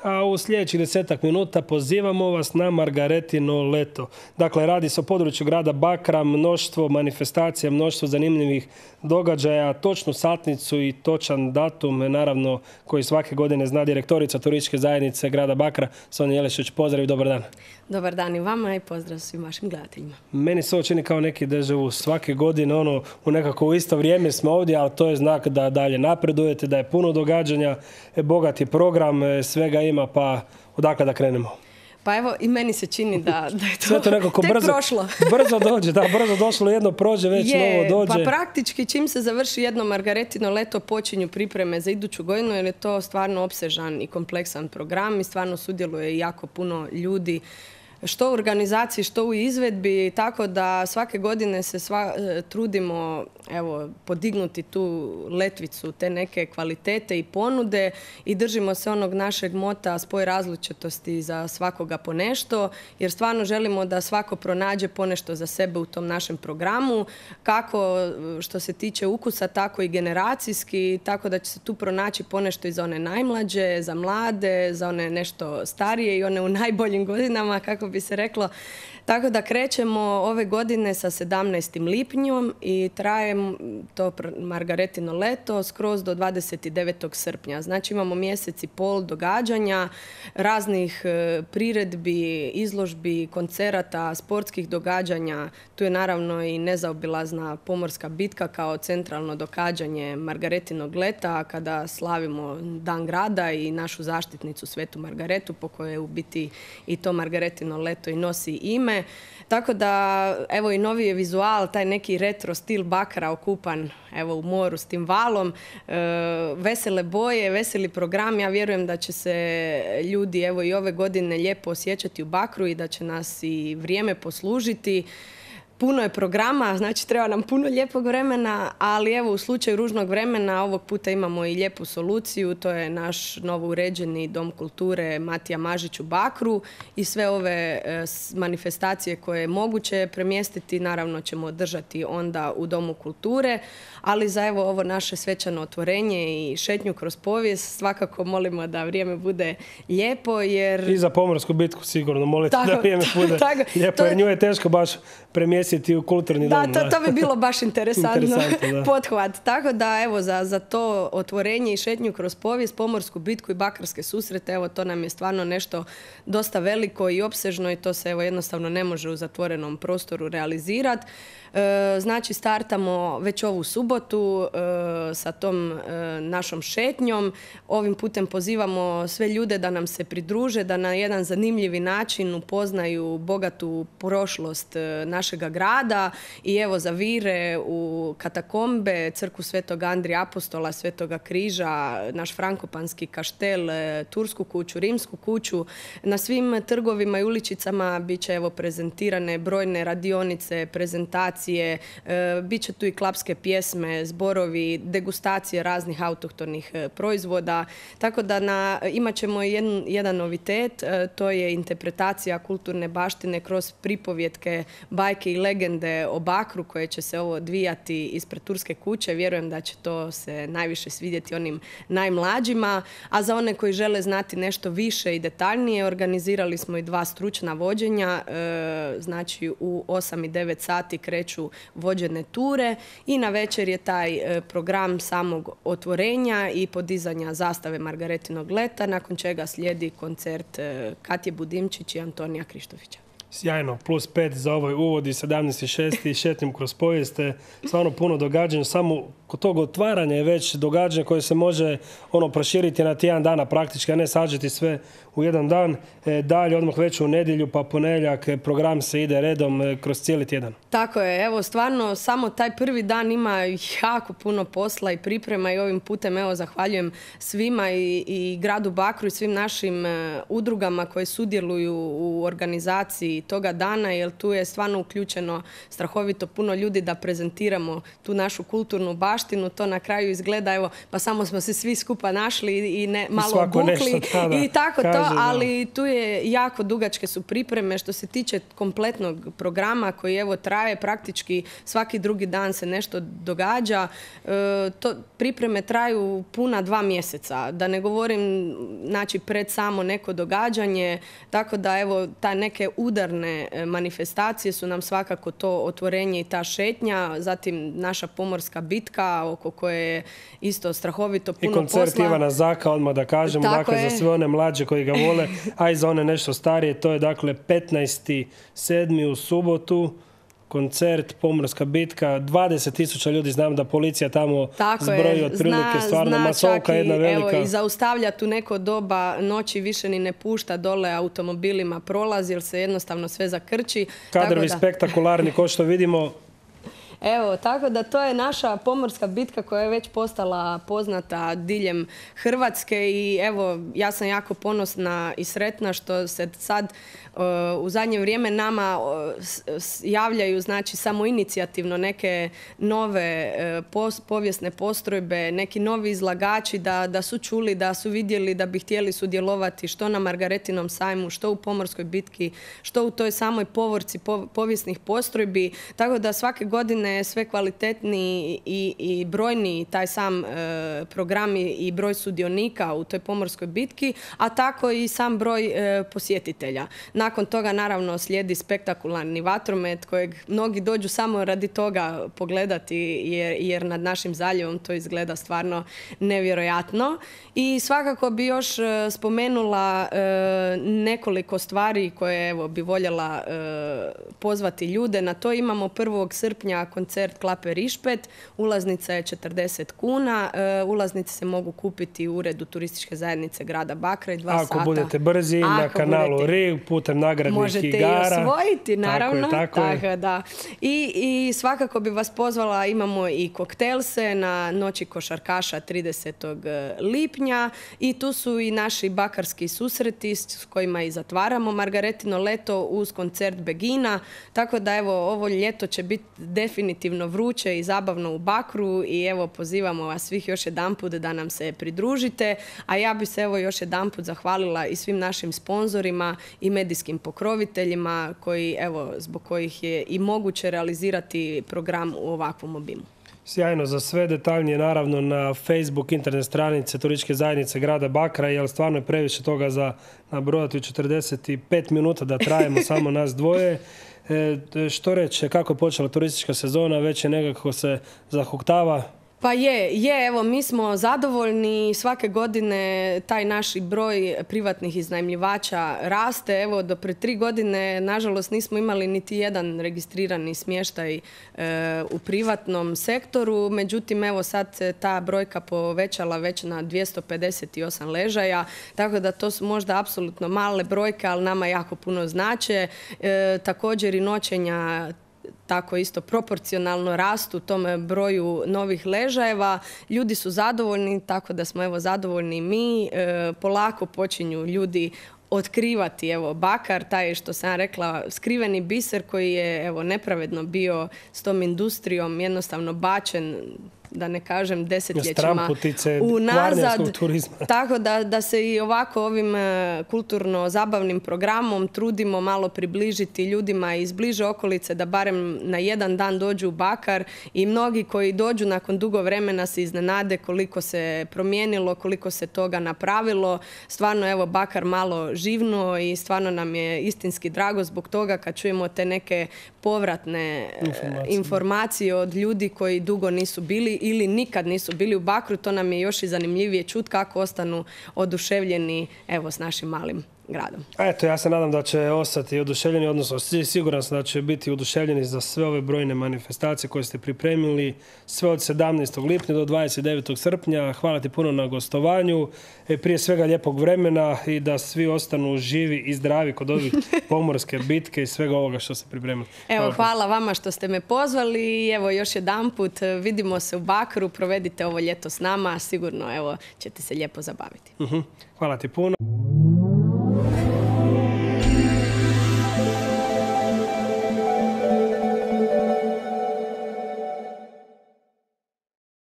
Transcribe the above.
a u sljedećih 10 minuta pozivamo vas na Margaretino leto. Dakle, radi se o području grada Bakra, mnoštvo manifestacija, mnoštvo zanimljivih događaja, točnu satnicu i točan datum, naravno, koji svake godine zna direktorica turističke zajednice grada Bakra, Sonja Jelešić. Pozdrav i dobar dan. Dobar dan i vama i pozdrav svim vašim gledateljima. Meni se ovo čini kao neki deja vu. Svake godine u nekako u isto vrijeme smo ovdje, ali to je znak da dalje napredujete, da je puno događanja, bogat je program, svega ima, pa odakle da krenemo? Pa evo, i meni se čini da je to, sve to nekako tek prošlo. Brzo dođe, brzo došlo, jedno prođe, već novo dođe. Pa praktički čim se završi jedno Margaretino leto počinju pripreme za iduću godinu, jer je to stvarno opsežan i kompleksan program i stvarno sudjeluje jako puno ljudi, što u organizaciji, što u izvedbi, tako da svake godine se trudimo podignuti tu letvicu, te neke kvalitete i ponude i držimo se onog našeg mota spoj različitosti za svakoga po nešto, jer stvarno želimo da svako pronađe ponešto za sebe u tom našem programu, kako što se tiče ukusa, tako i generacijski, tako da će se tu pronaći ponešto i za one najmlađe, za mlade, za one nešto starije i one u najboljim godinama, kako bi se reklo. Tako da krećemo ove godine sa 17. lipnjom i traje to Margaretino leto skroz do 29. srpnja. Znači imamo mjesec i pol događanja, raznih priredbi, izložbi, koncerata, sportskih događanja. Tu je naravno i nezaobilazna pomorska bitka kao centralno događanje Margaretinog leta kada slavimo Dan grada i našu zaštitnicu Svetu Margaretu po kojoj u biti i to Margaretino leto i nosi ime. Tako da, evo i novi je vizual, taj neki retro stil Bakra okupan u moru s tim valom, vesele boje, veseli program. Ja vjerujem da će se ljudi i ove godine lijepo osjećati u Bakru i da će nas i vrijeme poslužiti. Puno je programa, znači treba nam puno lijepog vremena, ali u slučaju ružnog vremena ovog puta imamo i lijepu soluciju, to je naš novo uređeni Dom kulture Matija Mažić u Bakru i sve ove manifestacije koje je moguće premjestiti naravno ćemo održati onda u Domu kulture, ali za ovo naše svečano otvorenje i šetnju kroz povijest svakako molimo da vrijeme bude lijepo jer... I za pomorsku bitku sigurno molite da vrijeme bude lijepo jer nju je teško baš premjestiti u kulturni dom. Da, to bi bilo baš interesantno pothvat. Tako da, za to otvorenje i šetnju kroz povijest, pomorsku bitku i bakarske susrete, to nam je stvarno nešto dosta veliko i opsežno i to se jednostavno ne može u zatvorenom prostoru realizirati. Znači, startamo već ovu subotu sa tom našom šetnjom. Ovim putem pozivamo sve ljude da nam se pridruže, da na jedan zanimljivi način upoznaju bogatu prošlost našega grada i zavire u katakombe, crkvu Svetog Andrija Apostola, Svetoga križa, naš frankopanski kaštel, tursku kuću, rimsku kuću. Na svim trgovima i uličicama bit će prezentirane brojne radionice, prezentacije, bit će tu i klapske pjesme, zborovi, degustacije raznih autohtonih proizvoda. Tako da imat ćemo jedan novitet, to je interpretacija kulturne baštine kroz pripovjetke, bajke i legende o Bakru koje će se odvijati ispred turske kuće. Vjerujem da će to se najviše svidjeti onim najmlađima, a za one koji žele znati nešto više i detaljnije organizirali smo i 2 stručna vođenja, znači u 8 i 9 sati kreću vođene ture i na večer je taj program samog otvorenja i podizanja zastave Margaretinog leta, nakon čega slijedi koncert Katje Budimčić i Antonija Krištovića. Sjajno, +5 za ovaj uvod i 17.6. šetnjom kroz povijest. Stvarno puno događanja, samo kod tog otvaranja je već događanje koje se može proširiti na tjedan dana praktički, a ne sažeti sve u jedan dan. Dalje, odmah već u nedjelju pa ponedjeljak program se ide redom kroz cijeli tjedan. Tako je, stvarno samo taj prvi dan ima jako puno posla i priprema i ovim putem zahvaljujem svima i gradu Bakru i svim našim udrugama koje sudjeluju u organizaciji toga dana, jer tu je stvarno uključeno strahovito puno ljudi da prezentiramo tu našu kulturnu baštinu. To na kraju izgleda, evo, pa samo smo se svi skupa našli i malo obukli i tako to, ali tu je jako dugačke su pripreme što se tiče kompletnog programa koji evo traje praktički svaki drugi dan se nešto događa. Pripreme traju puna 2 mjeseca, da ne govorim znači pred samo neko događanje, tako da evo ta neke udarne manifestacije su nam svakako to otvorenje i ta šetnja, zatim naša pomorska bitka oko koje je isto strahovito puno posla. I koncert Ivana Zaka, odmah da kažemo, dakle za sve one mlađe koji ga vole, a i za one nešto starije, to je dakle 15.7. u subotu. Koncert, pomorska bitka, 20.000 ljudi, znam da policija tamo zbroji otprilike, stvarno masovka jedna velika. Evo, i zaustavlja tu neko doba noći, više ni ne pušta dole automobilima prolazi, jer se jednostavno sve zakrči. Kadrovi spektakularni, ko što vidimo. Evo, tako da to je naša pomorska bitka koja je već postala poznata diljem Hrvatske i evo, ja sam jako ponosna i sretna što se sad u zadnje vrijeme nama javljaju znači samoinicijativno neke nove povijesne postrojbe, neki novi izlagači da su čuli, da su vidjeli da bi htjeli sudjelovati što na Margaretinom sajmu, što u pomorskoj bitki, što u toj samoj povorci povijesnih postrojbi, tako da svake godine sve kvalitetniji i brojniji taj sam program i broj sudionika u toj pomorskoj bitki, a tako i sam broj posjetitelja. Nakon toga naravno slijedi spektakularni vatromet kojeg mnogi dođu samo radi toga pogledati jer nad našim zaljevom to izgleda stvarno nevjerojatno. I svakako bi još spomenula nekoliko stvari koje evo, bi voljela pozvati ljude. Na to imamo 1. srpnja koncert Klape Rišpet. Ulaznica je 40 kuna. Ulaznice se mogu kupiti u uredu turističke zajednice grada Bakra i 2 sata. Ako budete brzi na kanalu RIG putem nagradnih igara. Možete i osvojiti, naravno. Tako je. Da. I svakako bi vas pozvala, imamo i koktelse na Noći košarkaša 30. lipnja i tu su i naši bakarski susreti s kojima i zatvaramo Margaretino leto uz koncert Begina. Tako da evo, ovo ljeto će biti definitivno vruće i zabavno u Bakru i evo pozivamo vas svih još jedanput da nam se pridružite, a ja bi se evo još jedanput zahvalila i svim našim sponzorima i medijskim pokroviteljima koji evo zbog kojih je i moguće realizirati program u ovakvom obimu. Sjajno, za sve detaljnije naravno na Facebook, internet stranice Turističke zajednice grada Bakra, jer stvarno je previše toga za nabrojati u 45 minuta da trajemo samo nas dvoje. Što reći, kako je počela turistička sezona, već je nekako se zahuktava? Pa evo, mi smo zadovoljni, svake godine taj naš broj privatnih iznajmljivača raste. Evo, do pred 3 godine, nažalost, nismo imali niti jedan registrirani smještaj u privatnom sektoru. Međutim, evo sad se ta brojka povećala već na 258 ležaja, tako da to su možda apsolutno male brojke, ali nama jako puno znače. Također i noćenja tako isto proporcionalno rastu tome broju novih ležajeva. Ljudi su zadovoljni, tako da smo evo zadovoljni mi. Polako počinju ljudi otkrivati evo Bakar, taj što sam rekla skriveni biser koji je evo nepravedno bio s tom industrijom jednostavno bačen, da ne kažem desetljećima unazad. Tako da se i ovako ovim kulturno-zabavnim programom trudimo malo približiti ljudima iz bliže okolice da barem na jedan dan dođu u Bakar i mnogi koji dođu nakon dugo vremena se iznenade koliko se promijenilo, koliko se toga napravilo. Stvarno evo Bakar malo živnuo i stvarno nam je istinski drago zbog toga kad čujemo te neke povratne informacije od ljudi koji dugo nisu bili ili nikad nisu bili u Bakru. To nam je još i zanimljivije čuti kako ostanu oduševljeni evo s našim malim gradom. Eto, ja se nadam da će ostati oduševljeni, odnosno siguran sam da će biti oduševljeni za sve ove brojne manifestacije koje ste pripremili sve od 17. lipnja do 29. srpnja. Hvala ti puno na gostovanju. Prije svega lijepog vremena i da svi ostanu živi i zdravi kod ovih pomorske bitke i svega ovoga što ste pripremili. Evo, hvala vama što ste me pozvali i evo još jedanput vidimo se u Bakru, provedite ovo ljeto s nama, sigurno evo ćete se lijepo zabaviti. Hvala ti puno.